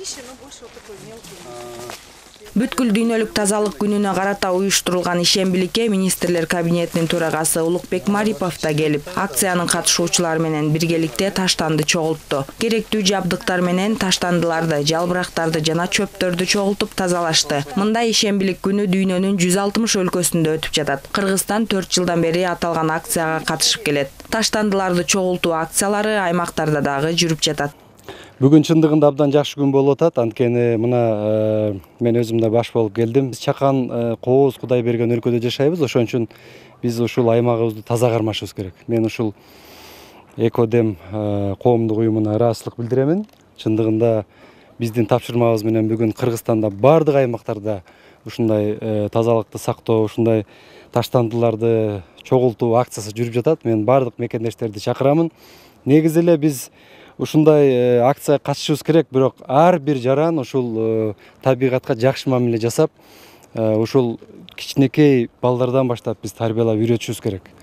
чище, но больше вот такой мелкий. Бүткүл дүйнөлүк тазалык күнүнө карата уюштурулган ишембиликке министрлер кабинетинин төрагасы Улукбек Марипов да келип, акциянын катышуучулары менен биргеликте таштанды чогултту. Керектүү жабдыктар менен таштандыларды, жалбырактарды жана чөптөрдү чогултуп тазалашты. Мындай ишембилик күнү дүйнөнүн 160 өлкөсүндө өтүп жатат. Кыргызстан 4 жылдан бери аталган акцияга катышып келет. Таштандыларды чогултуу акциялары аймактарда дагы жүрүп жатат. Бүгүн чындыгында абдан жакшы күн болуп атат. Анткени мына мен өзүм да баш болуп келдим. Чакан кооз Кудай берген өлкөдө жашайбыз. Ошон үчүн биз ушул аймагыбызды таза кармашыбыз керек. Мен ушул Экодем коомдук уюмуна ыраазычылык билдиремин. Чындыгында биздин тапшырмабыз менен бүгүн Кыргызстанда бардык аймактарда ушундай тазалыкты сактоо, ушундай таштандыларды чогултуу акциясы жүрүп жатат. Мен бардык мекендештерди чакырамын. Негизи эле биз ушундай акцияга катышыбыз керек, бирок ар бир жаран ушул табигатка жакшы мамиле жасап, ушул кичинекей балдардан баштап биз тарбиялап үйрөтүшүбүз керек.